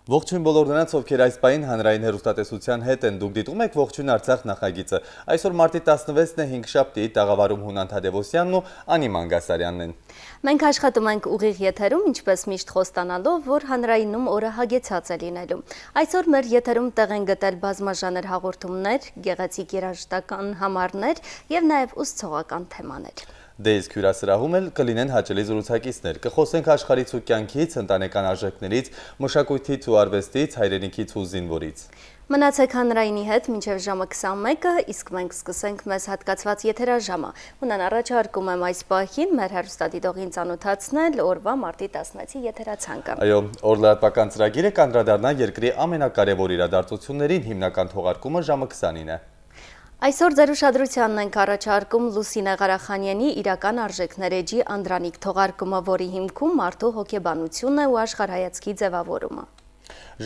Ողջույն բոլոր նրանց, ովքեր այս պահին հանրային հեռուստատեսության հետ են, դուք դիտում եք Ողջույն Արցախ նախագիծը։ Այսօր մարտի 16-ն է, հինգշաբթի, տաղավարում Հունան Թադևոսյանն ու Անի Մանգասարյանն են։ Մենք աշխատում ենք ուղիղ եթերում, ինչպես միշտ խոստանալով, որ հանրայինում օրը հագեցած է լինելու։ Այսօր մեր եթերում տեղ են գտել բազմաժանր հաղորդումներ, գեղեցիկ երաժշտական համարներ եւ նաեւ ուսուցողական թեմաներ։ Դե իսկ հյուրասրահում էլ կլինեն հաճելի զրուցակիցներ, կխոսենք աշխարհից ու կյանքից, ընտանեկան արժեքներից, մշակույթից ու արվեստից, հայրենիքից ու զինվորից։ Մնացեք հանրայինի հետ մինչև ժամը 21-ը, իսկ մենք սկսենք մեզ հատկացված եթերաժամը։ Հունան առաջարկում եմ այս պահին մեր հեռուստադիտողին ծանոթացնել օրվա մարտի 16-ի եթերացանկը։ Այո, օրլատվական ծրագիրը կանդրադառնա երկրի ամենակարևոր իրադարձություններին, հիմնական թողարկումը ժամը 20-ին է։ Այսօր ձեր ուշադրությանն ենք առաջարկում Լուսինե Ղարախանյանի իրական արժեքներ էջի Անդրանիկ թողարկումը, որի հիմքում մարդու հոգեբանությունն է ու աշխարհայացքի ձևավորումը։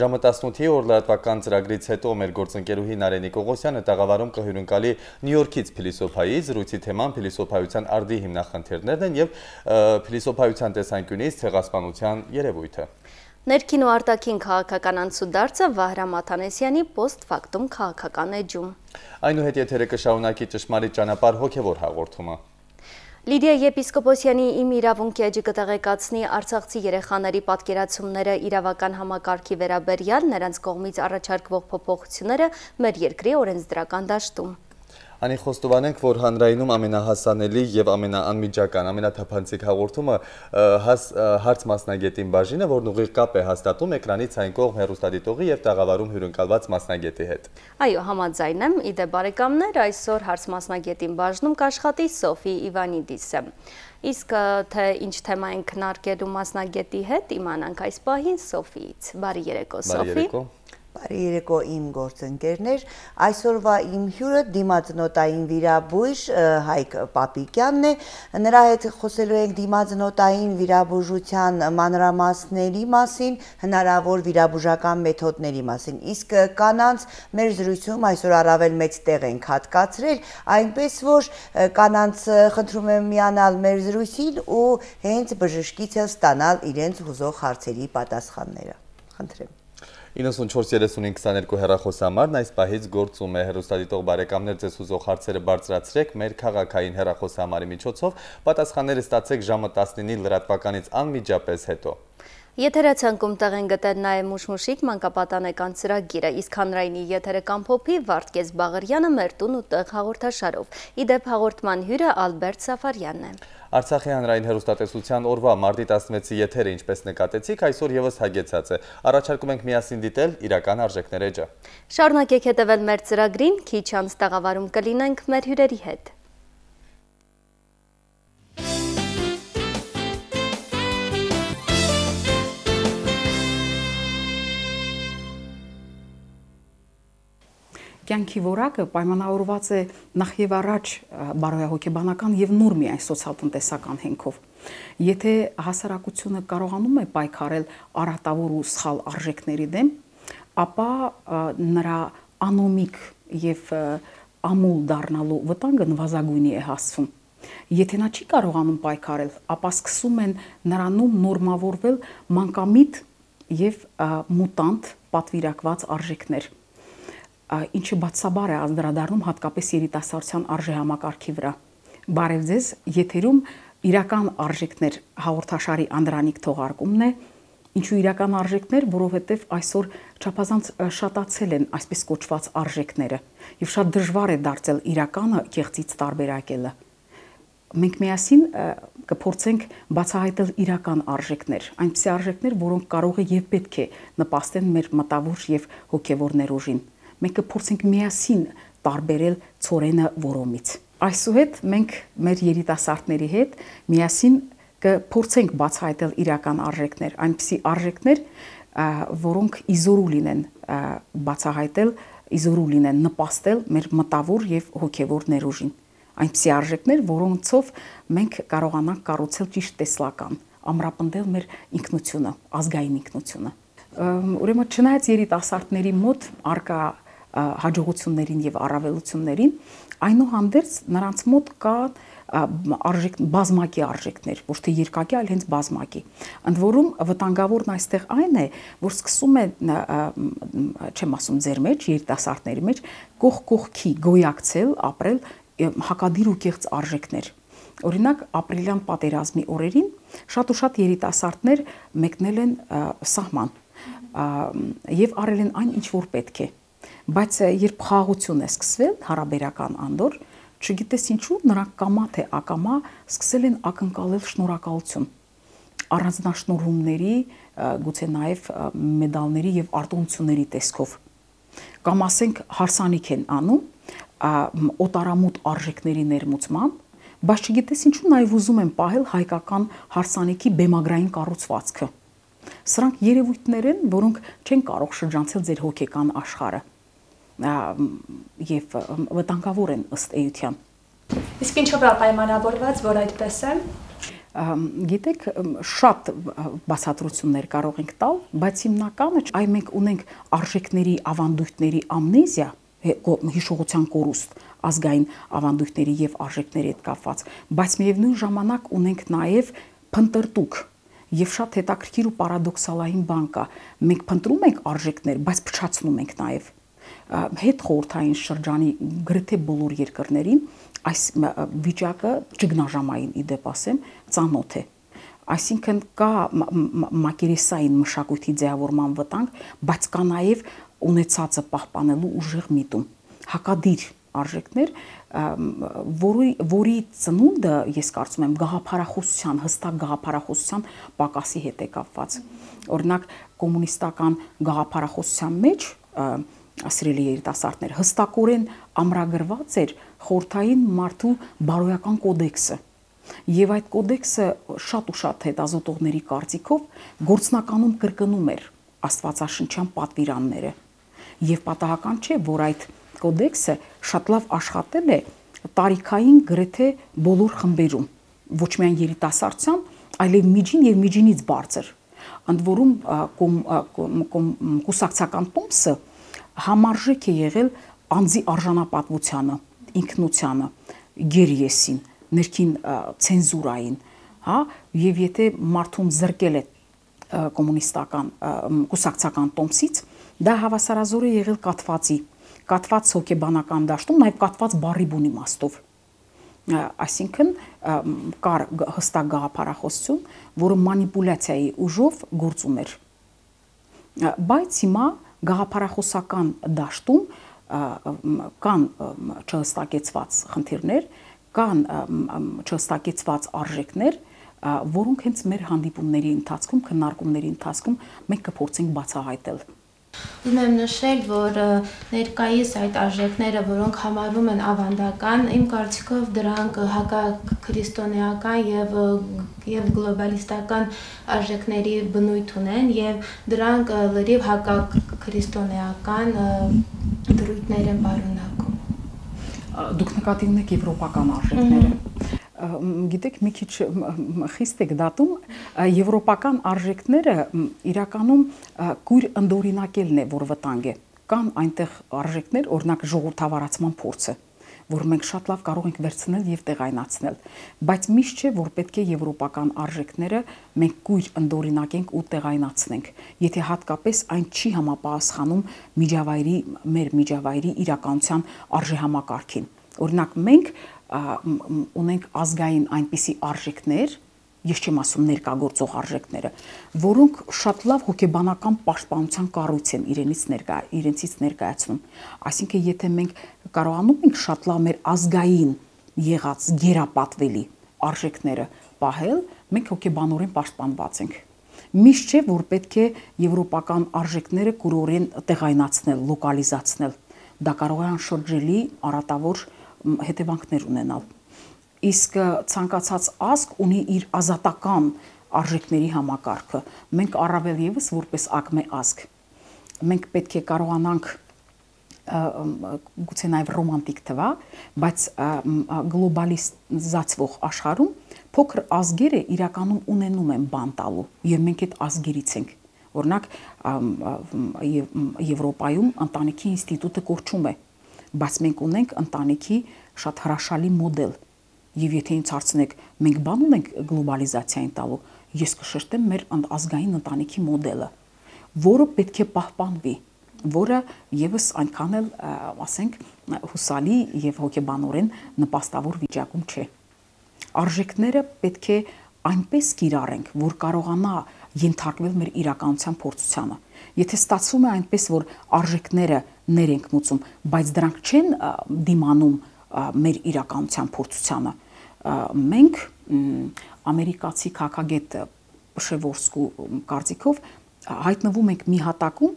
Ժամը 18-ի օրլատվական ծրագրից հետո մեր գործընկերուհի Նարենի Կողոսյանը տաղավարում կհյուրընկալի Նյու Յորքից փիլիսոփայի, զրույցի թեման փիլիսոփայության արդի հիմնախնդիրներն են եւ փիլիսոփայության տեսանկյունից ցեղասպանության երևույթը։ Ներքին ու արտաքին քաղաքական անցուդարձը Վահրամ Աթանեսյանի post-factum քաղաքական էջում։ Այնուհետ եթերը կշարունակի ճշմարիտ ճանապարհ հոգևոր հաղորդումը։ Լիդիա Եպիսկոպոսյանի Իմ իրավունքի էջը կտեղեկացնի արցախցի երեխաների պատկերացումները իրավական համակարգի վերաբերյալ, նրանց կողմից առաջարկվող փոփոխությունները մեր երկրի օրենսդրական դաշտում։ Անի խոստովանենք, որ հանրայինում ամենահասանելի եւ ամենաանմիջական, ամենաթափանցիկ հաղորդումը հարց մասնագետին բաժինը, որն ուղիղ կապ է հաստատում էկրանից այն կողմ հեռուստադիտողի եւ տաղավարում հյուրընկալված մասնագետի հետ։ Այո, համաձայն եմ, իդե բարեկամներ, այսօր հարց մասնագետին բաժնում կաշխատի Սոֆի Իվանիդիսը։ Իսկ թե ինչ թեմա են քննարկելու մասնագետի հետ, իմանանք այս պահին Սոֆիից։ Բարի երեկո, Սոֆի։ Բարի երեկո իմ գործընկերներ, այսօրվա իմ հյուրը դիմացնոտային վիրաբույժ Հայկ Պապիկյանն է, նրա հետ խոսելու ենք դիմացնոտային վիրաբուժության մանրամասների մասին, հնարավոր վիրաբուժական մեթոդների մասին, իսկ կանանց մեր զրույցում այսօր առավել մեծ տեղ ենք հատկացրել, այնպես որ կանանց խնդրում եմ միանալ մեր զրույցին ու հենց բժշկից ստանալ իրենց հուզող հարցերի պատասխանները, խնդրեմ։ 94-35-22 հեռախոսամարն այս պահից գործում է, հեռուստադիտող բարեկամներ, ձեզ հուզող հարցերը բարձրացրեք մեր քաղաքային հեռախոսամարի միջոցով, պատասխանները ստացեք ժամը 19-ի լրատվականից անմիջապես հետո։ Եթերացանկում տեղ են գտել նաև Մուշմուշիկ մանկապատանեկան ծրագիրը, իսկ հանրայինի եթերը կամփոփի Վարդգես Բաղարյանը մեր տուն ու տեղ հաղորդաշարով։ Իդեպ հաղորդման հյուրը Ալբերտ Սաֆարյանն է։ Արցախի հանրային հեռուստատեսության օրվա մարտի 16-ի եթերը, ինչպես նկատեցիք, այսօր եւս հագեցած է։ Առաջարկում ենք միասին դիտել իրական արժեքներ էջը։ Շարունակեք հետևել մեր ծրագրին, քիչ անց տաղավարում կլինենք մեր հյուրերի հետ։ Կյանքի որակը պայմանավորված է նախ եւ առաջ բարոյահոգեբանական եւ նոր միայն սոցիալ-տնտեսական հենքով։ Եթե հասարակությունը կարողանում է պայքարել արատավոր ու սխալ արժեքների դեմ, ապա նրա անոմիկ եւ ամուլ դառնալու վտանգը նվազագույնի է հասցվում։ Եթե նա չի կարողանում պայքարել, ապա սկսում են նրանում նորմավորվել մանկամիտ եւ մուտանտ պատվիրակված արժեքներ, ինչը բացաբար է անդրադառնում հատկապես երիտասարդության արժեհամակարգի վրա։ Բարև ձեզ, եթերում իրական արժեքներ հաղորդաշարի Անդրանիկ թողարկումն է, ինչու իրական արժեքներ, որովհետև այսօր չափազանց շատացել են այսպես կոչված արժեքները եւ շատ դժվար է դարձել իրականը կեղծից տարբերակելը։ Մենք միասին կփորձենք բացահայտել իրական արժեքներ, այնպիսի արժեքներ, որոնք կարող է եւ պետք է նպաստեն մեր մտավոր եւ հոգեվոր ներուժին։ Մենք կփորձենք միասին տարբերել ցորենը որոմից։ Այսուհետ մենք մեր երիտասարդների հետ միասին կփորձենք բացահայտել իրական արժեքներ, այնպիսի արժեքներ, որոնք իզորու լինեն բացահայտել, իզորու լինեն նպաստել մեր մտավոր եւ հոգեվոր ներուժին։ Այնպիսի արժեքներ, որոնցով մենք կարողանանք կառուցել ճիշտ տեսլական, ամրապնդել մեր ինքնությունը, ազգային ինքնությունը։ Ուրեմն չնայած երիտասարդների մոտ արկա հաջողություններին եւ առավելություններին, Այնուհանդերձ նրանց մոտ կա բազմակի արժեքներ, ոչ թե երկակի, այլ հենց բազմակի։ Ընդ որում վտանգավորն այստեղ այն է, որ սկսում է, չեմ ասում ձեր մեջ, երիտասարդների մեջ, կողքի գոյակցել, ապրել հակադիր ու կեղծ արժեքներ։ Օրինակ, ապրիլյան պատերազմի օրերին շատ ու շատ երիտասարդներ մեկնել են սահման եւ արել են այն, ինչ որ պետք է։ Բայց երբ խաղաղություն է սկսվել, հարաբերական անդոր, չգիտես ինչու նրանք կամա թե ակամա սկսել են ակնկալել շնորհակալություն առանձնաշնորհումների, գուցե նաև մեդալների եւ արտոնությունների տեսքով։ Կամ ասենք հարսանիք են անում օտարամուտ արժեքների ներմուծմամբ, բայց չգիտես ինչու նաև ուզում են պահել հայկական հարսանիքի բեմագրային կառուցվածքը։ Սրանք երևույթներ են, որոնք չեն կարող շրջանցել ձեր հոգեկան աշխարհը եւ վտանգավոր են ըստ էության։ Իսկ ինչով է պայմանավորված, որ այդպես է։ Գիտեք, շատ բացատրություններ կարող ենք տալ, բայց հիմնականը այ մենք ունենք արժեքների, ավանդույթների ամնեզիա, հիշողության կորուստ, ազգային ավանդույթների եւ արժեքների հետ կապված, բայց միևնույն ժամանակ ունենք նաեւ փնտրտուք եւ շատ հետաքրքիր ու պարադոքսալային բան կա։ Մենք փնտրում ենք արժեքներ, բայց փչացնում ենք նաեւ։ Հետ խորհրդային շրջանի գրեթե բոլոր երկրներին այս վիճակը ճգնաժամային իդեպ ասեմ ծանոթ է։ Այսինքն կա մակերեսային մշակույթի ձևավորման վտանգ, բայց կա նաև ունեցածը պահպանելու ուժեղ միտում, հակադիր արժեքներ, որի ծնունդը, ես կարծում եմ, գաղափարախոսության, հստակ գաղափարախոսության պակասի հետ է կապված։ Օրինակ, կոմունիստական գաղափարախոսության մեջ սիրելի երիտասարդներ, հստակորեն ամրագրված էր խորհրդային մարդու բարոյական կոդեքսը։ Եվ այդ կոդեքսը շատ ու շատ հետազոտողների կարծիքով գործնականում կրկնում էր աստվածաշնչյան պատվիրանները։ Եվ պատահական չէ, որ այդ կոդեքսը շատ լավ աշխատել է տարիքային գրեթե բոլոր խմբերում, ոչ միայն երիտասարդության, այլև միջին եւ միջինից բարձր։ Ընդ որում կուսակցական տոմսը համարժեք է եղել անձի արժանապատվությանը, ինքնությանը, գերիեսին, ներքին ցենզուրային, հա, եւ եթե մարդուն զրկել է կոմունիստական կուսակցական տոմսից, դա հավասարազոր է եղել կատված հոգեբանական դաշտում, նաեւ կատված բառի բուն իմաստով։ Այսինքն կար հստակ գաղափարախոսություն, որը մանիպուլյացիայի ուժով գործում էր։ Բայց հիմա գաղափարախոսական դաշտում կան չհստակեցված խնդիրներ, կան չհստակեցված արժեքներ, որոնք հենց մեր հանդիպումների ընթացքում, քննարկումների ընթացքում մենք կփորձենք բացահայտել։ Ուզում եմ նշել, որ ներկայիս այդ արժեքները, որոնք համարվում են ավանդական, իմ կարծիքով դրանք հակաքրիստոնեական եւ գլոբալիստական արժեքների բնույթ ունեն եւ դրանք լրիվ հակաքրիստոնեական դրույթներ են պարունակում։ Դուք նկատի ունեք եվրոպական արժեքները։ Գիտեք, մի քիչ խիստ եք դատում, եվրոպական արժեքները իրականում կույր ընդօրինակելն է, որ վտանգ է։ Կան այնտեղ արժեքներ, օրինակ ժողովրդավարացման փորձը, որ մենք շատ լավ կարող ենք վերցնել եւ տեղայնացնել, բայց միշտ չէ, որ պետք է եվրոպական արժեքները մենք կույր ընդօրինակենք ու տեղայնացնենք, եթե հատկապես այն չի համապատասխանում մեր միջավայրի իրականության արժեհամակարգին։ Օրինակ մենք ունենք ազգային այնպիսի արժեքներ, ես չեմ ասում ներկայգործող արժեքները, որոնք շատ լավ հոգեբանական պաշտպանության կառույց են իրենցից ներկայացնում։ Այսինքն, եթե մենք կարողանում ենք շատ լավ մեր ազգային եղած գերապատվելի արժեքները պահել, մենք հոգեբանորեն պաշտպանված ենք։ Միշտ չէ, որ պետք է եվրոպական արժեքները կուրորեն տեղայնացնել, լոկալիզացնել։ Դա կարող է անշրջելի առատավոր հետևանքներ ունենալ։ Իսկ ցանկացած ազգ ունի իր ազատական արժեքների համակարգը։ Մենք առավել եւս որպես ակմե ազգ, մենք պետք է կարողանանք գուցե նաև ռոմանտիկ թվա, բայց գլոբալիզացվող աշխարհում փոքր ազգերը իրականում ունենում են բան տալու, եւ մենք այդ ազգերից ենք։ Օրինակ Եվրոպայում ընտանիքի ինստիտուտը կորչում է, բայց մենք ունենք ընտանիքի շատ հրաշալի մոդել։ Եվ եթե ինձ հարցնեք, մենք բան ունենք գլոբալիզացիային տալու, ես կշեշտեմ մեր ազգային ընտանիքի մոդելը, որը պետք է պահպանվի, որը եւս այնքան էլ, ասենք, հուսալի եւ հոգեբանորեն նպաստավոր վիճակում չէ։ Արժեքները պետք է այնպես կիրառենք, որ կարողանա ենթարկվել մեր իրականության փորձությանը։ Եթե ստացվում է այնպես, որ արժեքները ներենք մուծում, բայց դրանք չեն դիմանում մեր իրականության փորձությանը, մենք ամերիկացի քաղաքագետ Պշևորսկու կարծիքով հայտնվում ենք մի հատակում,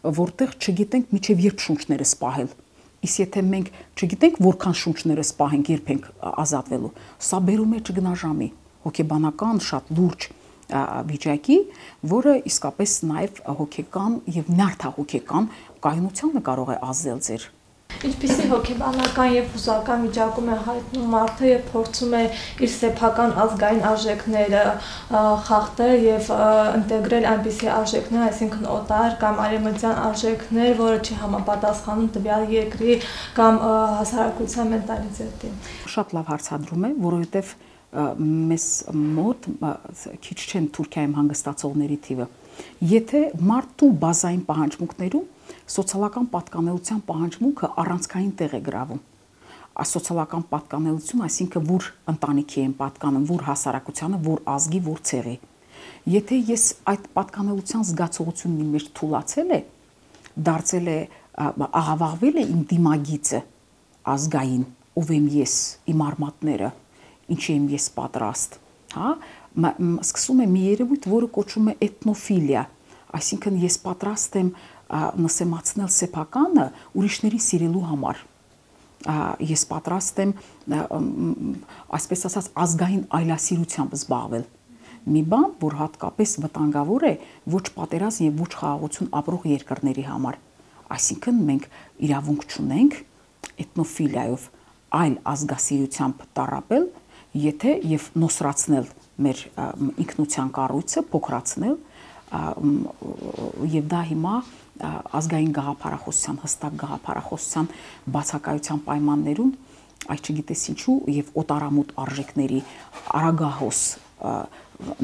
որտեղ չգիտենք միջև երբ շունչները սպահել։ Իսկ եթե մենք չգիտենք որքան շունչները սպահենք, երբ ենք ազատվելու, սա բերում է ճգնաժամի, հոգեբանական շատ լուրջ վիճակի, որը իսկապես նաև հոգեկան եւ նյարդահոգեկան կայունությանը կարող է ազդել ձեր։ Ինչպիսի հոգեբանական եւ հուզական վիճակում է հայտնում մարդը եւ փորձում է իր սեփական ազգային արժեքները խախտել եւ ինտեգրել այնպիսի արժեքներ, այսինքն օտար կամ արևմտյան արժեքներ, որը չի համապատասխանում տվյալ երկրի կամ հասարակության մենտալիտետին։ Շատ լավ հարցադրում է, որովհետեւ մեզ մոտ քիչ չեն Թուրքիայում հանգստացողների թիվը։ Եթե մարդու բազային պահանջմունքներում սոցիալական պատկանելության պահանջմունքը առանցքային տեղ է գրավում։ Սոցիալական պատկանելություն, այսինքն որ ընտանիքի են պատկանում, որ հասարակությանը, որ ազգի, որ ցեղի։ Եթե ես այդ պատկանելության զգացողությունն իմ մեջ թուլացել է, դարձել է աղավաղվել է իմ դիմագիծը ազգային, ով եմ ես, իմ արմատները, ինչի եմ ես պատրաստ, հա, սկսում է մի երևույթ, որը կոչվում է էթնոֆիլիա, այսինքն ես պատրաստ եմ նսեմացնել սեփականը ուրիշների սիրելու համար։ Ես պատրաստ եմ, այսպես ասած, ազգային այլասիրությամբ զբաղվել։ Մի բան, որ հատկապես վտանգավոր է ոչ պատերազմ եւ ոչ խաղաղություն ապրող երկրների համար։ Այսինքն մենք իրավունք չունենք էթնոֆիլիայով այլ ազգասիրությամբ տառապել, եթե եւ նոսրացնել մեր ինքնության կառույցը, փոքրացնել եւ դա հիմա ազգային գաղափարախոսության, հստակ գաղափարախոսության բացակայության պայմաններում, այս չգիտես ինչու եւ օտարամուտ արժեքների արագահոս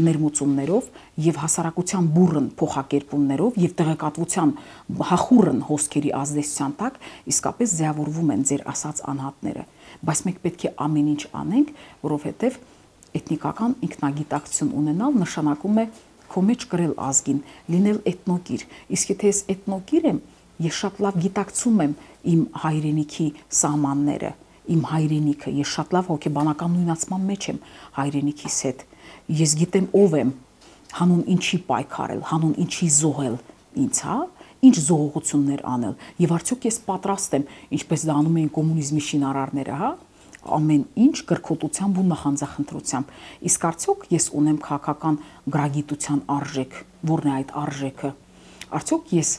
ներմուծումներով եւ հասարակության բուրըն փոխակերպումներով եւ տեղեկատվության հախուռն հոսքերի ազդեցության տակ իսկապես ձևավորվում են ձեր ասած անհատները, բայց մենք պետք է ամեն ինչ անենք, որովհետեւ էթնիկական ինքնագիտակցություն ունենալ նշանակում է քո մեջ կրել ազգին, լինել էթնոկիր, իսկ եթե ես էթնոկիր եմ, ես շատ լավ գիտակցում եմ իմ հայրենիքի սահմանները, իմ հայրենիքը, ես շատ լավ հոգեբանական նույնացման մեջ եմ հայրենիքիս հետ, ես գիտեմ ով եմ, հանուն ինչի պայքարել, հանուն ինչի զոհել ինձ, հա, ինչ զոհողություններ անել, եւ արդյոք ես պատրաստ եմ, ինչպես դա անում էին կոմունիզմի շինարարները, հա, ամեն ինչ կրկոտությամբ ու նախանձախնդրությամբ։ Իսկ արդյոք ես ունեմ քաղաքական գրագիտության արժեք, որն է այդ արժեքը։ Արդյոք ես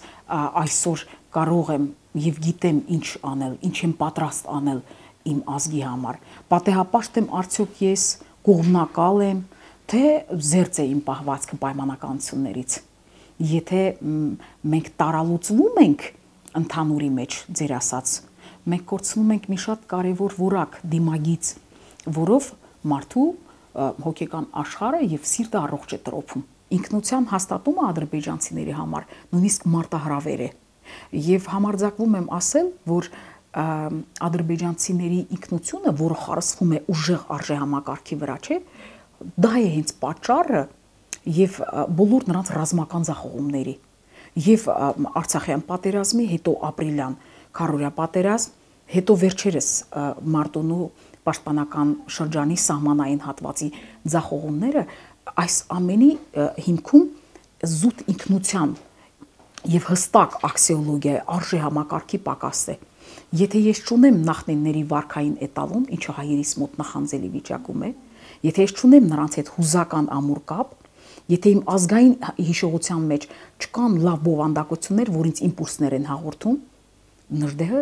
այսօր կարող եմ եւ գիտեմ ինչ անել, ինչ եմ պատրաստ անել իմ ազգի համար։ Պատեհապաշտ եմ արդյոք ես կողմնակալ եմ, թե զերծ է իմ պահվածքը պայմանականություններից։ Եթե մենք տարալուծվում ենք ընդհանուրի մեջ, ձեր ասած, մենք կորցնում ենք մի շատ կարևոր որակ դիմագիծ, որով մարդու հոգեկան աշխարհը եւ սիրտը առողջ է տրոփում։ Ինքնության հաստատումը ադրբեջանցիների համար նույնիսկ մարտահրավեր է։ Եվ համարձակվում եմ ասել, որ ադրբեջանցիների ինքնությունը, որը խարսվում է ուժեղ արժեհամակարգի վրա, չէ, դա է հենց պատճառը եւ բոլոր նրանց ռազմական ձախողումների եւ Արցախյան պատերազմի, հետո ապրիլյան քարորյա պատերազմ, հետո վերջերս Մարտունու պաշտպանական շրջանի սահմանային հատվածի ձախողումները, այս ամենի հիմքում զուտ ինքնության եւ հստակ աքսիոլոգիայի արժեհամակարգի պակաս է։ Եթե ես չունեմ նախնիների վարքային էտալոն, ինչը հայերիս մոտ նախանձելի վիճակում է, եթե ես չունեմ նրանց հետ հուզական ամուր կապ, եթե իմ ազգային հիշողության մեջ չկան լավ բովանդակություններ, որ ինձ իմպուլսներ են հաղորդում, Նժդեհը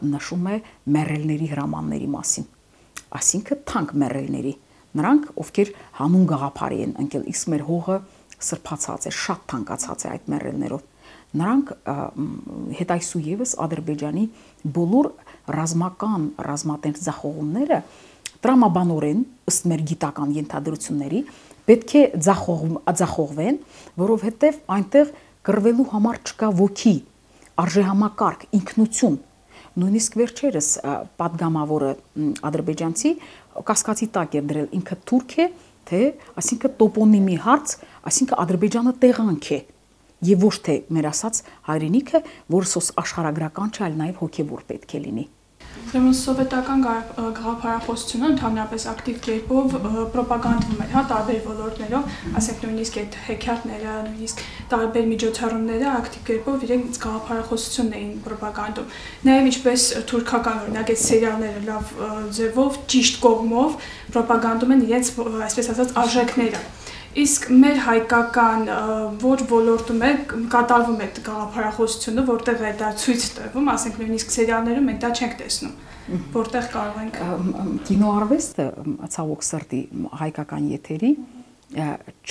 նշում է մեռելների հրամանների մասին, այսինքն թանկ մեռելների, նրանք, ովքեր հանուն գաղափարի են ընկել, իսկ մեր հողը սրբացած է, շատ թանկացած է այդ մեռելներով, նրանք հետ այսուևս Ադրբեջանի բոլոր ռազմական, ռազմատենչ ձախողումները տրամաբանորեն ըստ մեր գիտական ենթադրությունների պետք է ձախողվեն, որովհետև այնտեղ կռվելու համար չկա ոգի, արժեհամակարգ, ինքնություն։ Նույնիսկ վերջերս պատգամավորը ադրբեջանցի կասկածի տակ էր դրել ինքը թուրք է, թե այսինքն տոպոնիմի հարց, այսինքն Ադրբեջանը տեղանք է եւ ոչ թե մեր ասած հայրենիքը, որը աշխարհագրական չէ, այլ նաեւ հոգեվոր պետք է լինի։ Ուրեմն սովետական գաղափարախոսությունը ընդհանրապես ակտիվ կերպով պրոպագանդվում էր, տարբեր ոլորտներով, ասենք նույնիսկ այդ հեքիաթները, նույնիսկ տարբեր միջոցառումները ակտիվ կերպով իրենց գաղափարախոսությունն էին պրոպագանդում։ Նաև ինչպես թուրքական օրինակ այդ սերիալները լավ ձևով, ճիշտ կողմով պրոպագանդում են իրենց, այսպես ասած, արժեքները։ Իսկ մեր հայկական որ ոլորտում է կատարվում է գաղափարախոսությունը, որտեղ է դա ցույց տրվում, ասենք նույնիսկ սերիալներում մենք դա չենք տեսնում, որտեղ կարող ենք կինոարվեստը ցավոք սրտի հայկական եթերի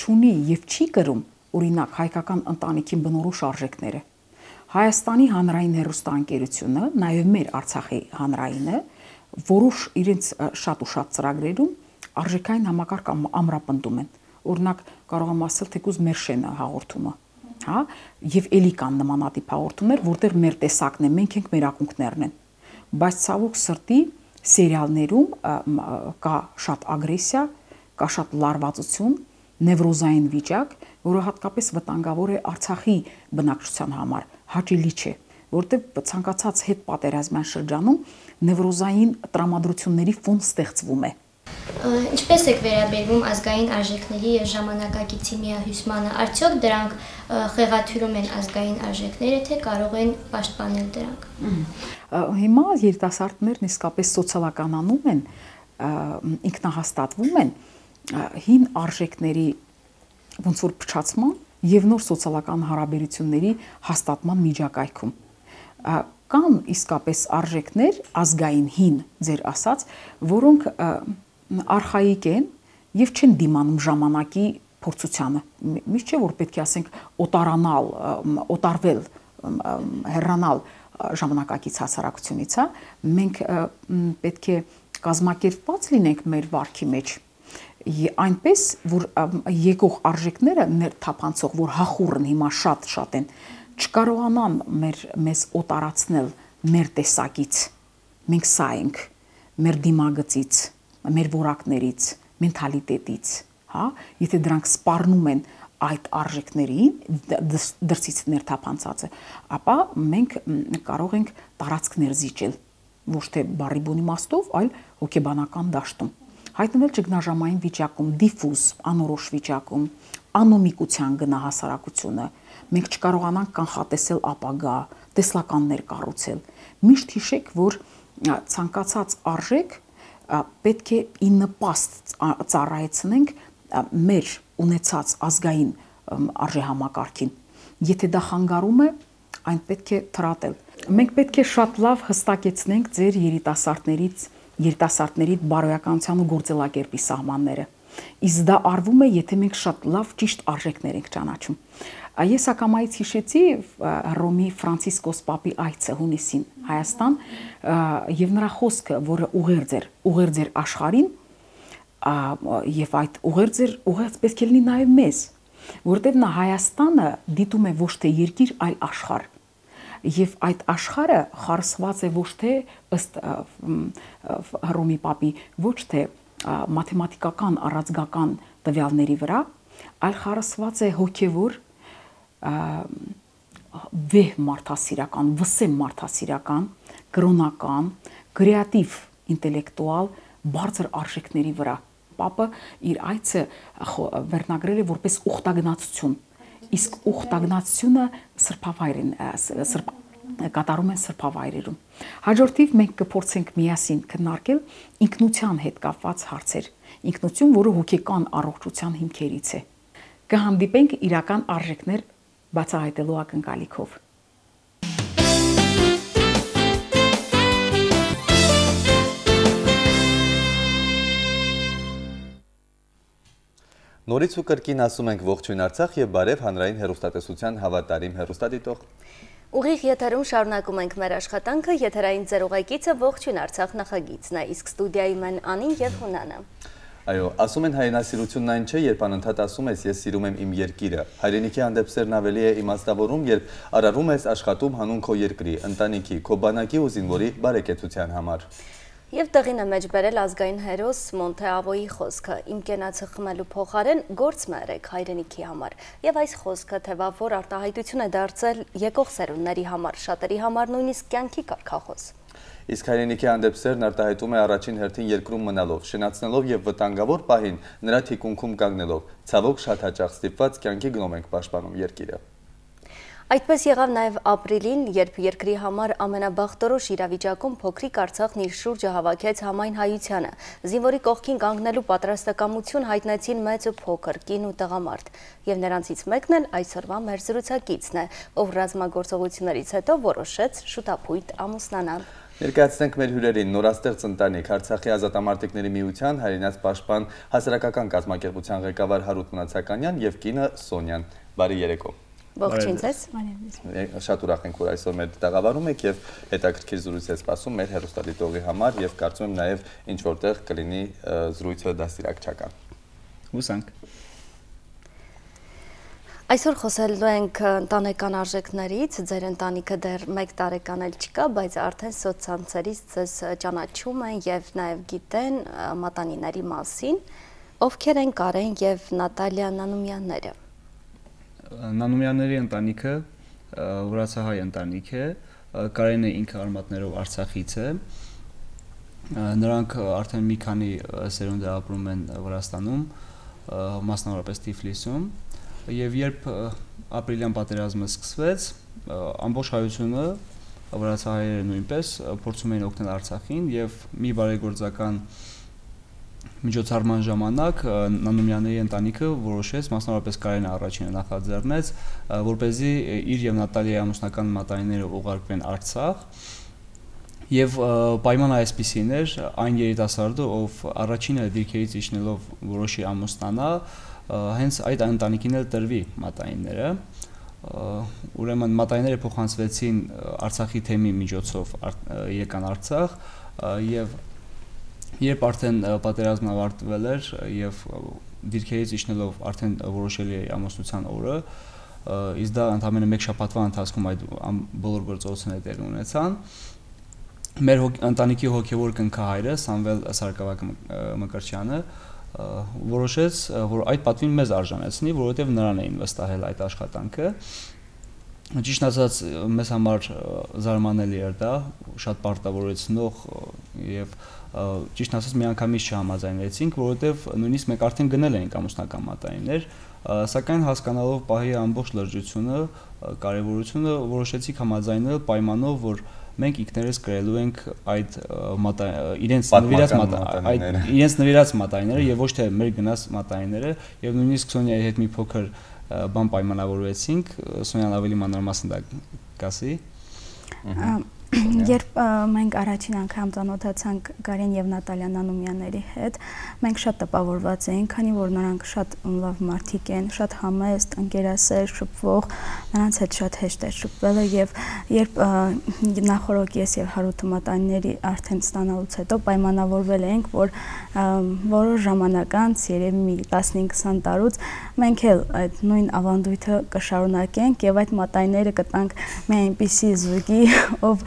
չունի եւ չի կրում օրինակ հայկական ընտանիքին բնորոշ արժեքները։ Հայաստանի հանրային հեռուստաընկերությունը, նաեւ մեր Արցախի հանրայինը, որոշ իրենց շատ ու շատ ծրագրերում արժեքային համակարգ ամրապնդում են։ Օրինակ կարող եմ ասել թեկուզ մեր շենը հաղորդումը, հա, եւ էլի կան նմանատիպ հաղորդումներ, որտեղ մեր տեսակն է, մենք ենք մեր ակունքներն են։ Բայց ցավոք սրտի սերիալներում կա շատ ագրեսիա, կա շատ լարվածություն, նևրոզային վիճակ, որը հատկապես վտանգավոր է Արցախի բնակչության համար, հաճելի չէ, որտեղ ցանկացած հետ պատերազմյան շրջանում նևրոզային տրամադրությունների ֆոն ստեղծվում է։ Ինչպես եք վերաբերվում ազգային արժեքների եւ ժամանակակիցի միահյուսմանը, արդյոք դրանք խեղաթյուրում են ազգային արժեքները, թե կարող են պաշտպանել դրանք։ Հիմա երիտասարդներն իսկապես սոցիալականանում են, ինքնահաստատվում են հին արժեքների ոնց որ փչացման եւ նոր սոցիալական հարաբերությունների հաստատման միջակայքում։ Կան իսկապես արժեքներ ազգային հին, ձեր ասած, որոնք արխայիկ են եւ չեն դիմանում ժամանակի փորձությանը։ Միշտ չէ որ պետք է ասենք օտարանալ, օտարվել, հեռանալ ժամանակակից հասարակությունից, հա։ Մենք պետք է կազմակերպված լինենք մեր վարքի մեջ։ Այնպես որ եկող արժեքները ներթափանցող, որ հախուռն հիմա շատ են, չկարողանան մեզ օտարացնել մեր տեսակից։ Մենք սա ենք, մեր դիմագծից, մեր որակներից, մենթալիտետից, հա, եթե դրանք սպառնում են այդ արժեքներին, դրսից ներթափանցածը, ապա մենք կարող ենք տարածքներ զիջել, ոչ թե բառի բուն իմաստով, այլ հոգեբանական դաշտում։ Հայտնվել ճգնաժամային վիճակում, դիֆուզ, անորոշ վիճակում, անոմիկության գնահասարակությունը, մենք չկարողանանք կանխատեսել ապագա, տեսլականներ կառուցել։ Միշտ հիշեք, որ ցանկացած արժեք պետք է ի նպաստ ծառայեցնենք մեր ունեցած ազգային արժեհամակարգին։ Եթե դա խանգարում է, այն պետք է թրատել։ Մենք պետք է շատ լավ հստակեցնենք ձեր երիտասարդների բարոյականության ու գործելակերպի սահմանները։ Իսկ դա արվում է, եթե մենք շատ լավ ճիշտ արժեքներ ենք ճանաչում։ Ես ակամայից հիշեցի Հռոմի Ֆրանցիսկոս Պապի այցը հունիսին Հայաստան եւ նրա խոսքը, որը ուղերձ էր աշխարհին, եւ այդ ուղերձ պետք է լինի նաեւ մեզ, որտեղ նա Հայաստանը դիտում է ոչ թե երկիր, այլ աշխարհ։ Եվ այդ աշխարհը խարսված է ոչ թե ըստ Հռոմի Պապի, ոչ թե մաթեմատիկական առածգական տվյալների վրա, այլ խարսված է հոգևոր վեհ մարդասիրական, վսեմ մարդասիրական, կրոնական, կրեատիվ ինտելեկտուալ բարձր արժեքների վրա։ Պապը իր այցը վերնագրել է որպես ուխտագնացություն, իսկ ուխտագնացությունը սրբավայրին կատարում են սրբավայրերում։ Հաջորդիվ մենք կփորձենք միասին քննարկել ինքնության հետ կապված հարցեր, ինքնություն, որը հոգեկան առողջության հիմքերից է։ Կհանդիպենք իրական արժեքներ բացահայտելու ակնկալիքով։ Նորից ու կրկին ասում ենք ողջույն Արցախ եւ բարև հանրային հեռուստատեսության հավատարիմ հեռուստադիտող։ Ուղիղ եթերում շարունակում ենք մեր աշխատանքը, եթերային ձեր ուղեկիցը ողջույն Արցախ նախագիծն է, իսկ ստուդիայում են Անին եւ Հունանը։ Այո, ասում են հայրենասիրությունն այն չէ, երբ անընդհատ ասում ես ես սիրում եմ իմ երկիրը։ Հայրենիքի հանդեպ սերն ավելի է իմաստավորում, երբ արարում ես աշխատում հանուն քո երկրի, ընտանիքի, քո բանակի ու զինվորի բարեկեցության համար։ Եվ տեղին է մեջ բերել ազգային հերոս Մոնթե Ավոյի խոսքը. «Իմ կենացը խմելու փոխարեն գործ մերեք հայրենիքի համար»։ Եվ այս խոսքը թեվավոր արտահայտություն է դարձել եկող սերունդների համար, շատերի համար նույնիսկ կյանքի կարգախոս։ Իսկ հայրենիքի հանդեպ սերն արտահայտում է առաջին հերթին երկրում մնալով, շնացնելով եւ վտանգավոր պահին նրա թիկունքում կանգնելով։ Ցավոք շատ հաճախ ստիպված կյանքի գնով ենք պաշտպանում երկիրը։ Այդպես եղավ նաև ապրիլին, երբ երկրի համար ամենաբախտորոշ իրավիճակում փոքրիկ Արցախն իր շուրջը հավաքեց համայն հայությանը։ Զինվորի կողքին կանգնելու պատրաստակամություն հայտնեցին մեծ ու փոքր, կին ու տղամարդ։ Եվ նրանցից մեկն էլ այսօրվա մեր զրուցակիցն է, ով ռազմագործողություններից հետո որոշեց շուտապույտ ամուսնանալ։ Ներկայացնենք մեր հյուրերին նորաստեղծ ընտանիք Արցախի ազատամարտիկների միության հայրենաց պաշտպան հասարակական կազմակերպության ղեկավար Հարութ Մնացականյան եւ կինը Սոնյան։ Բարի երեկո։ Ողջույն ձեզ։ Շատ ուրախ ենք, որ այսօր մեր տաղավարում եք եւ հետաքրքիր զրույց է սպասում մեր հեռուստադիտողի համար եւ կարծում եմ նաեւ ինչ որտեղ կլինի զրույցը դաստիարակչական։ Հուսանք։ Այսօր խոսելու ենք ընտանեկան արժեքներից, ձեր ընտանիքը դեռ 1 տարեկան էլ չկա, բայց արդեն սոցցանցերից ձեզ ճանաչում են եւ նաեւ գիտեն մատանիների մասին, ովքեր են Կարեն եւ Նատալիա Նանումյանները։ Նանումյանների ընտանիքը վրացահայ ընտանիք է, Կարենը ինքը արմատներով Արցախից է, նրանք արդեն մի քանի սերունդ ապրում են Վրաստանում, մասնավորապես Թիֆլիսում, եւ երբ ապրիլյան պատերազմը սկսվեց, ամբողջ հայությունը, վրացահայերը նույնպես փորձում էին օգնել Արցախին եւ մի բարեգործական միջոցառման ժամանակ Նանումյանների ընտանիքը որոշեց, մասնավորապես Կարենը առաջինը նախաձեռնեց, որպեսզի իր եւ Նատալիայի ամուսնական մատանիները ուղարկվեն Արցախ եւ պայմանը այսպիսին էր, այն երիտասարդը, ով առաջինը դիրքերից իջնելով որոշի ամուսնանա, հենց այդ ընտանիքին էլ տրվի մատանիները, ուրեմն մատանիները փոխանցվեցին Արցախի թեմի միջոցով եկան Արցախ եւ երբ արդեն պատերազմն ավարտվել էր եւ դիրքերից իջնելով արդեն որոշելի էր ամուսնության օրը, իսկ դա ընդամենը 1 շաբաթվա ընթացքում այդ բոլոր գործողությունները տեղի ունեցան, մեր ընտանիքի հոգեվոր կնքահայրը Սամվել Սարգսակյան Մկրտչյանը որոշեց, որ այդ պատվին մեզ արժանացնի, որովհետև նրան էին վստահել այդ աշխատանքը։ Ճիշտ ասած, մեզ համար զարմանալի էր դա, շատ պարտավորեցնող եւ ճիշտ ասած միանգամից չհամաձայնվեցինք, որովհետև նույնիսկ մենք արդեն գնել էինք ամուսնական մատանիներ, սակայն հասկանալով պահի ամբողջ լրջությունը, կարևորությունը որոշեցինք համաձայնել պայմանով, որ մենք ինքներս կրելու ենք այդ իրենց նվիրած մատանիները եւ ոչ թե մեր գնաց մատանիները եւ նույնիսկ Սոնյայի հետ մի փոքր բան պայմանավորվեցինք, Սոնյան ավելի մանրամասն դա կասի։ Երբ մենք առաջին անգամ ծանոթացանք Կարեն եւ Նատալիա Նանումյանների հետ, մենք շատ տպավորված էինք, քանի որ նրանք շատ լավ մարդիկ են, շատ համեստ, ընկերասեր, շփվող, նրանց հետ շատ հեշտ է շփվելը եւ երբ նախորդ ես եւ Հարութը մատանիների արդեն ստանալուց հետո պայմանավորվել էինք, որ որոշ ժամանակ անց, երևի մի 15-20 տարուց մենք էլ այդ նույն ավանդույթը կշարունակենք եւ այդ մատանիները կտանք մի այնպիսի զույգի, ով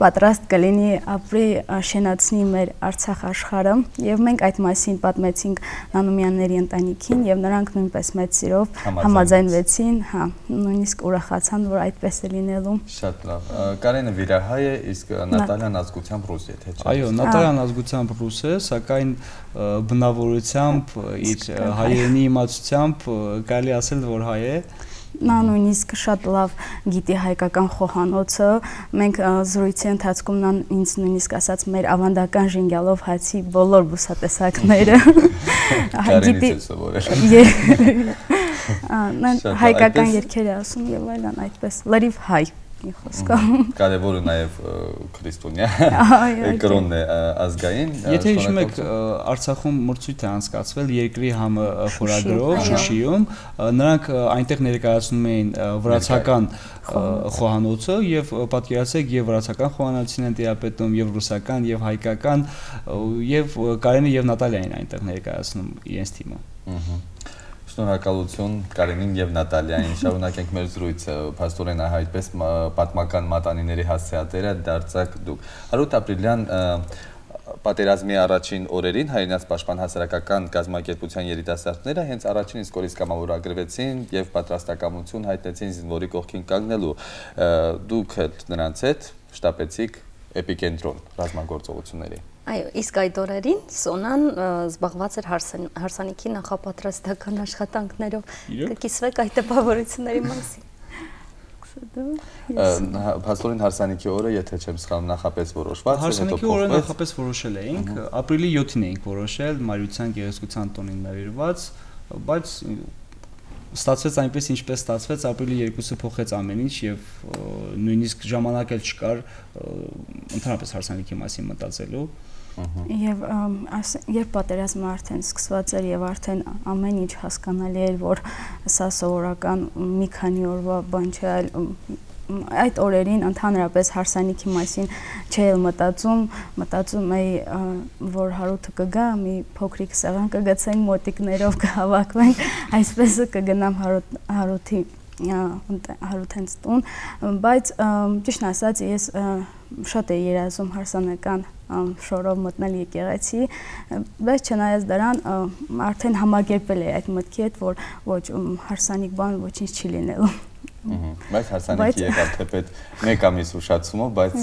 պատրաստ կլինի ապրի շենացնի մեր Արցախ աշխարհը եւ մենք այդ մասին պատմեցինք Նանումյանների ընտանիքին եւ նրանք նույնպես մեծ սիրով համաձայնվեցին, հա, նույնիսկ ուրախացան, որ այդպես է լինելու։ Շատ լավ։ Կարենը վիրահայ է, իսկ Նատալիան ազգությամբ ռուս է, թե չէ։ Այո, Նատալիան ազգությամբ ռուս է, սակայն բնավորությամբ իր հայերենի իմացությամբ կարելի ասել, որ հայ է։ Նա նույնիսկ շատ լավ գիտի հայկական խոհանոցը, մենք զրույցի ընթացքում նա ինձ նույնիսկ ասաց մեր ավանդական ժենգյալով հացի բոլոր բուսատեսակները գիտի հայկական երգեր է ասում եւ այլն, այդպես լրիվ հայ։ մի խոսքով։ Կարևորը նաև քրիստոնյա կրոնն է ազգային։ Եթե հիշում եք, Արցախում մրցույթ է անցկացվել երկրի համը խորագրով Շուշիում, նրանք այնտեղ ներկայացնում էին վրացական խոհանոցը եւ պատկերացեք եւ վրացական խոհանոցին են տիրապետում եւ ռուսական եւ հայկական եւ Կարենը եւ Նատալիային այնտեղ ներկայացնում իրենց թիմը։ Շնորհակալություն Կարենին եւ Նատալիային։ Շարունակենք մեր զրույցը։ Փաստորեն այդպես պատմական մատանիների հասցեատերը դարձաք դուք։ Հարութ Ապրիլյան պատերազմի առաջին օրերին հայրենաց պաշտպան հասարակական կազմակերպության երիտասարդները հենց առաջին իսկ օրից կամավորագրվեցին եւ պատրաստակամություն հայտնեցին զինվորի կողքին կանգնելու։ Դուք նրանց հետ շտապեցիք էպիկենտրոն ռազմագործողությունների։ Այո, իսկ այդ օրերին Սոնան զբաղված էր հարսանիքի նախապատրաստական աշխատանքներով։ Կկիսվեք այդ տպավորությունների մասին։ Փաստորեն հարսանիքի օրը, եթե չեմ սխալվում, նախապես որոշված է, հետո փոխվեց։ Հարսանիքի օրը նախապես որոշել էինք, ապրիլի 7-ին էինք որոշել, Մարիության գեղեցկության տոնին նվիրված, բայց ստացվեց այնպես ինչպես ստացվեց, ապրիլի 2-ը փոխեց ամեն ինչ եւ նույնիսկ ժամանակ էլ չկար ընդհանրապես հարսանիքի մասին մտածելու։ Եվ երբ պատերազմը արդեն սկսված էր եւ արդեն ամեն ինչ հասկանալի էր, որ սա սովորական մի քանի օրվա բան չէ, այլ այդ օրերին ընդհանրապես հարսանիքի մասին չէի մտածում էի, որ Հարութը կգա, մի փոքրիկ սեղան կգցենք, մոտիկներով կհավաքվենք, այսպես կգնամ Հարութենց տուն, բայց ճիշտն ասած ես շատ էի երազում հարսանեկան շորով մտնել եկեղեցի, բայց չնայած դրան արդեն համագերպել էի այդ մտքի հետ, որ ոչ հարսանիք բան ոչինչ չի լինելու։ Բայց հարսանիքի եկավ թեպետ 1 ամիս ուշացումով, բայց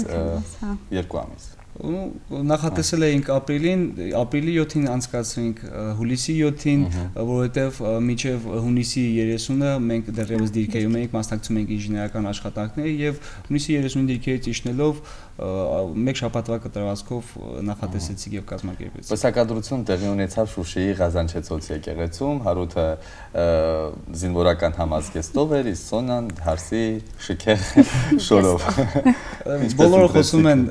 2 ամիս։ Նախատեսել էինք ապրիլի 7-ին անցկացրինք հուլիսի 7-ին, որովհետև մինչև հունիսի 30-ը մենք դեռևս դիրքերում էինք, մասնակցում էինք ինժեներական աշխատանքների եւ հունիսի 30-ին դիրքերից իջնելով մեկ շաբաթվա կտրվածքով նախատեսեցիք եւ կազմակերպեցիք։ Պսակադրություն տեղի ունեցավ Շուշիի Ղազանչեցոց եկեղեցում, Հարութը զինվորական համազգեստով էր, իսկ Սոնան հարսի շքեղ շորով։ Բոլորը խոսում են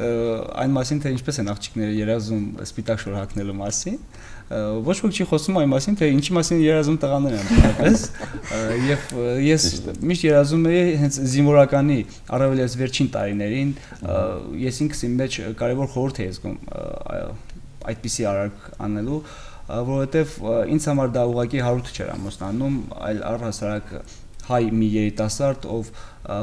այն մասին, թե ինչպես են աղջիկները երազում սպիտակ շոր հագնելու մասին, ոչ ոք չի խոսում այն մասին, թե ինչի մասին երազում տղաները են այնպես, եւ ես միշտ երազում էի հենց զինվորականի առավել ես վերջին տարիներին, ես ինքս իմ մեջ կարևոր խորհուրդ էի զգում այդպիսի արարք անելու, որովհետեւ ինձ համար դա ուղղակի Հարութը չէր ամուսնանում, այլ առհասարակ հայ մի երիտասարդ, ով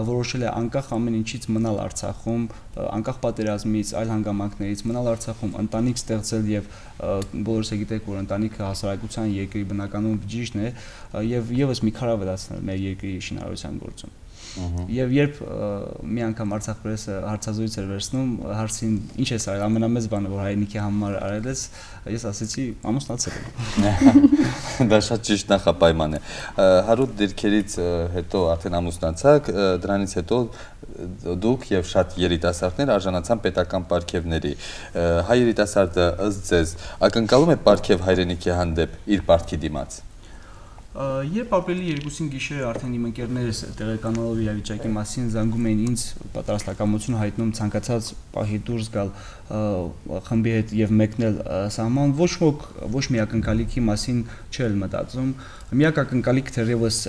որոշել է անկախ ամեն ինչից մնալ Արցախում, անկախ պատերազմից, այլ հանգամանքներից մնալ Արցախում, ընտանիք ստեղծել եւ բոլորս գիտեք, որ ընտանիքը հասարակության երկրի բնականոն բջիջն է եւ եւս մի քար ավելացնել մեր երկրի շինարարության գործում։ Եվ երբ մի անգամ Արցախ պրեսը հարցազրույց էր վերցնում, հարցին ինչ ես արել, ամենամեծ բանը, որ հայրենիքի համար արել ես, ես ասեցի ամուսնացել եմ։ Դա շատ ճիշտ նախապայման է։ Հարութ դիրքերից հետո արդեն ամուսնացաք, դրանից հետո դուք եւ շատ երիտասարդներ արժանացան պետական պարգևների։ Հայ երիտասարդը ըստ ձեզ ակնկալում է պարգև հայրենիքի հանդեպ իր պարտքի դիմաց։ Երբ ապրիլի 2-ին գիշերը արդեն իմ ընկերներս տեղեկանալով իրավիճակի մասին զանգում էին ինձ, պատրաստակամություն հայտնում ցանկացած պահի դուրս գալ խմբի հետ եւ մեկնել սահման, ոչ մի ակնկալիքի մասին չէր մտածում։ Միակ ակնկալիքը թերևս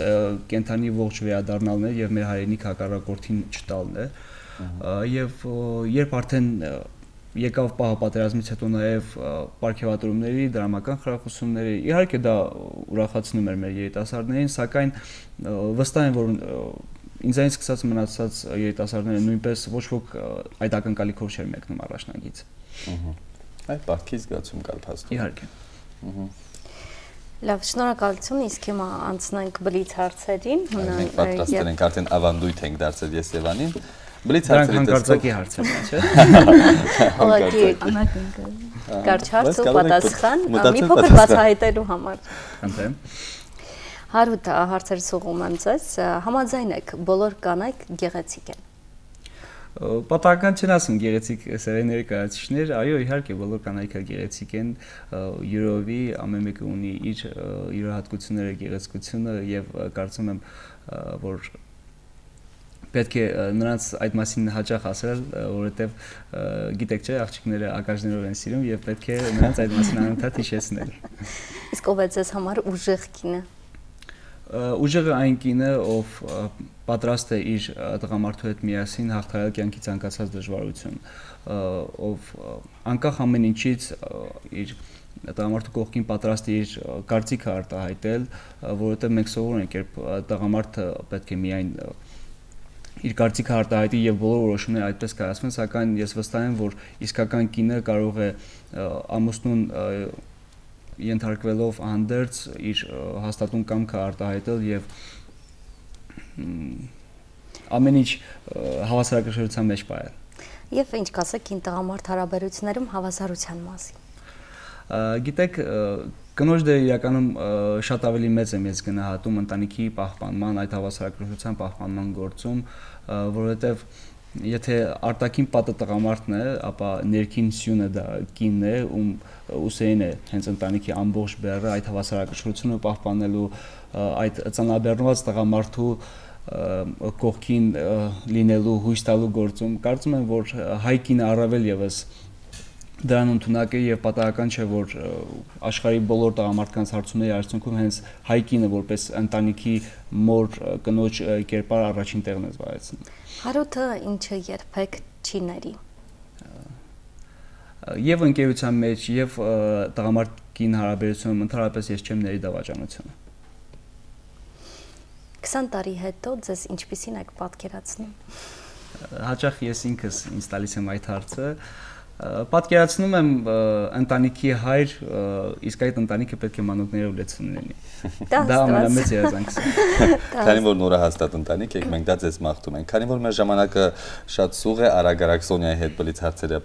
կենթանի ողջ վերադառնալն է եւ մեր հայրենիք հակառակորդին չտալն է։ Եվ երբ արդեն եկավ պահը պատերազմից հետո նաև պարգևատրումների, դրամական խրախուսումների, իհարկե դա ուրախացնում էր մեր երիտասարդներին, սակայն վստահ եմ, որ ինձանից սկսած մնացած երիտասարդները նույնպես ոչ ոք այդ ակնկալիքով չէր մեկնում առաջնագից։ Այդ պարտքի զգացում կար փաստորեն։ Իհարկե։ Լավ, շնորհակալություն, իսկ հիմա անցնենք բլից հարցերին։ Մենք պատրաստել ենք արդեն ավանդույթ ենք դարձել Եսևանին։ Դրանք հանկարծակի հարցեր են, չէ՞։ Ուղղակի կարճ հարց ու պատասխան, մի փոքր բացահայտելու համար։ Խնդրեմ։ Հարութ, հարցերս ուղղում եմ ձեզ, համաձայն եք, բոլոր կանայք գեղեցիկ են։ Պատահական չեն ասում գեղեցիկ սերեն ներկայացուցիչներ, այո, իհարկե բոլոր կանայքը գեղեցիկ են, յուրովի ամեն մեկը ունի իր յուրահատկությունները, գեղեցկությունը եւ կարծում եմ, որ պետք է նրանց այդ մասին հաճախ ասել, որովհետև գիտեք չէ, աղջիկները ակաժներով են սիրում եւ պետք է նրանց այդ մասին անընդհատ հիշեցնել։ Իսկ ով է ձեզ համար ուժեղ կինը։ Ուժեղը այն կինը, ով պատրաստ է իր տղամարդու հետ միասին հաղթահարել կյանքի ցանկացած դժվարություն, ով անկախ ամեն ինչից իր տղամարդու կողքին պատրաստ է իր կարծիքը արտահայտել, որովհետև մենք սովոր ենք, երբ տղամարդը պետք է միայն իր կարծիքը արտահայտի եւ բոլոր որոշումները այդպես կայացվեն, սակայն ես վստահ եմ, որ իսկական կինը կարող է ամուսնուն ենթարկվելով անդերձ իր հաստատուն կամքը արտահայտել եւ ամեն ինչ հավասարակշռության մեջ պահել։ Եվ ինչ կասեք կին տղամարդ հարաբերություններում հավասարության մասին։ Գիտեք, կնոջ դերը իրականում շատ ավելի մեծ եմ ես գնահատում ընտանիքի պահպանման, այդ հավասարակշռության պահպանման գործում, որովհետև եթե արտաքին պատը տղամարդն է, ապա ներքին սյունը դա կինն է, ում ուսերին է հենց ընտանիքի ամբողջ բեռը այդ հավասարակշռությունը պահպանելու, այդ ծանրաբեռնված տղամարդու կողքին լինելու հույս տալու գործում կարծում եմ, որ հայ կինը առավել եւս դրան ընդունակ է եւ պատահական չէ, որ աշխարհի բոլոր տղամարդկանց հարցումների արդյունքում հենց հայ կինը որպես ընտանիքի մոր կնոջ կերպար առաջին տեղն է զբաղեցնում։ Հարութը ինչը երբեք չի ների։ Եվ ընկերության մեջ, եւ տղամարդ-կին հարաբերությունում ընդհանրապես ես չեմ ների դավաճանությունը։ 20 տարի հետո ձեզ ինչպիսին եք պատկերացնում։ Հաճախ ես ինքս ինձ տալիս եմ այդ հարցը։ Պատկերացնում եմ ընտանիքի հայր, իսկ այդ ընտանիքը պետք է մանուկներով լեցուն լինի։ Դա ամենամեծ երազանքս է։ Քանի որ նորահաստատ ընտանիք եք, մենք դա ձեզ մաղթում ենք։ Քանի որ մեր ժամանակը շատ սուղ է, արագ Սոնյայի հետ բլից հարցերը։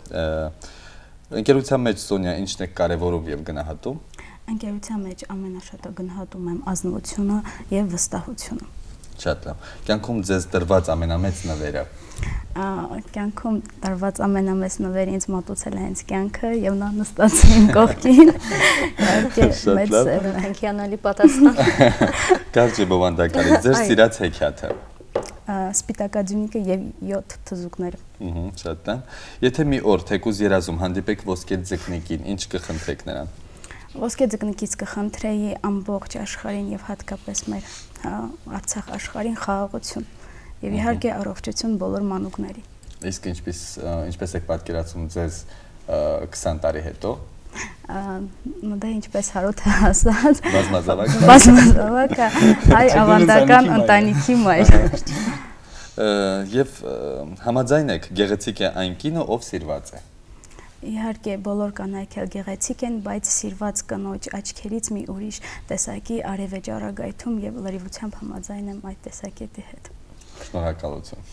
Ընկերության մեջ Սոնյա ինչն է կարևորում եւ գնահատում։ Ընկերության մեջ ամենաշատը գնահատում եմ ազնվությունը եւ վստահությունը։ Շատ լավ։ Կյանքում ձեզ տրված ամենամեծ նվերը։ Կյանքում տրված ամենամեծ նվերը ինձ մատուցել է հենց կյանքը եւ նա նստած իմ կողքին։ Մեծ հենքյանալի պատասխան։ Կարճ բովանդակալի ձեր սիրած հեքիաթը։ Սպիտակաձյունիկը եւ 7 թզուկները։ Շատ լավ։ Եթե մի օր թեկուզ երազում հանդիպեք ոսկե ձկնիկին, ինչ կխնդրեք նրան։ Ոսկե ձկնիկից կխնդրեի ամբողջ աշխարհին եւ հատկապես մեր Արցախ աշխարհին խաղաղություն եւ իհարկե առողջություն բոլոր մանուկներին։ Իսկ ինչպես եք պատկերացնում ձեզ 20 տարի հետո։ Դա ինչպես Հարութը ասաց։ Բազմազավակ։ Բազմազավակ հայ ավանդական ընտանիքի մայր։ Եվ համաձայն եք, գեղեցիկ է այն կինը, ով սիրված է։ Իհարկե բոլոր կանայք էլ գեղեցիկ են, բայց սիրված կնոջ աչքերից մի ուրիշ տեսակի արև է ճառագայթում եւ լրիվությամբ համաձայն եմ այդ տեսակետի հետ։ Շնորհակալություն։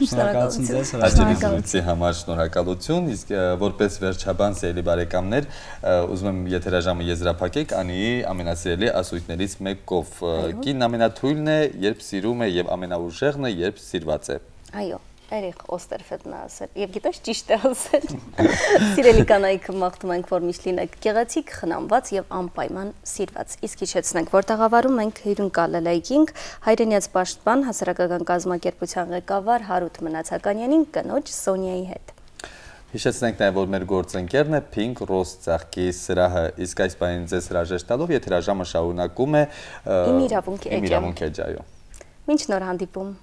Շնորհակալություն ձեզ հրավերության համար, շնորհակալություն, իսկ որպես վերջաբան սիրելի բարեկամներ, ուզում եմ եթերաժամը եզրափակեք Անիի ամենասիրելի ասույթներից մեկով։ Կինն ամենաթույլն է, երբ սիրում է եւ ամենաուժեղն է, երբ սիրված է։ Այո։ Էրիխ Օստերֆելդն է ասել, եւ գիտես ճիշտ է ասել։ Սիրելի կանայք, մաղթում ենք, որ միշտ լինեք գեղեցիկ, խնամված եւ անպայման սիրված։ Իսկ հիշեցնենք, որ տաղավարում մենք հյուրընկալել էինք հայրենիաց պաշտպան հասարակական կազմակերպության ղեկավար Հարութ Մնացականյանին կնոջ Սոնյայի հետ։ Հիշեցնենք նաեւ, որ մեր գործընկերն է Pink Rose ծաղկի սրահը, իսկ այս բանին ձեզ հրաժեշտ տալով եթերաժամը շարունակում է Իմ իրավունք էջը։ Այո։ Մինչ նոր հանդիպում։